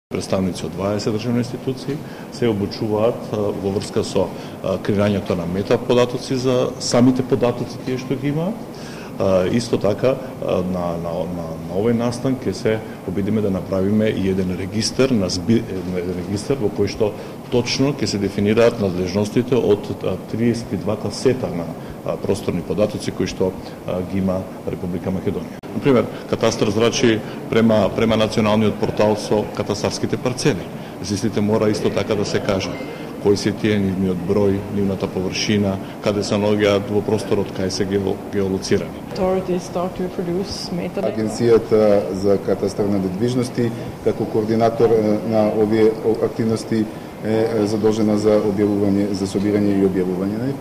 Представници од 20 државни институции се обучуваат во врска со креирањето на метаподатоци за самите податоци тие што ги имаат. Исто така на овој настан ќе се обидиме да направиме и еден регистар во кој што точно ќе се дефинираат надлежностите од 32 сета на просторни податоци кои што ги има Република Македонија. Например, катастар зрачи према националниот портал со катастарските парцели. Истите мора исто така да се каже кои се тие, нивниот број, нивната површина, каде се наоѓаат во просторот, кај се геолоцирани. Агенцијата за катастар на недвижности како координатор на овие активности е задолжена за објавување, за собирање и објавување.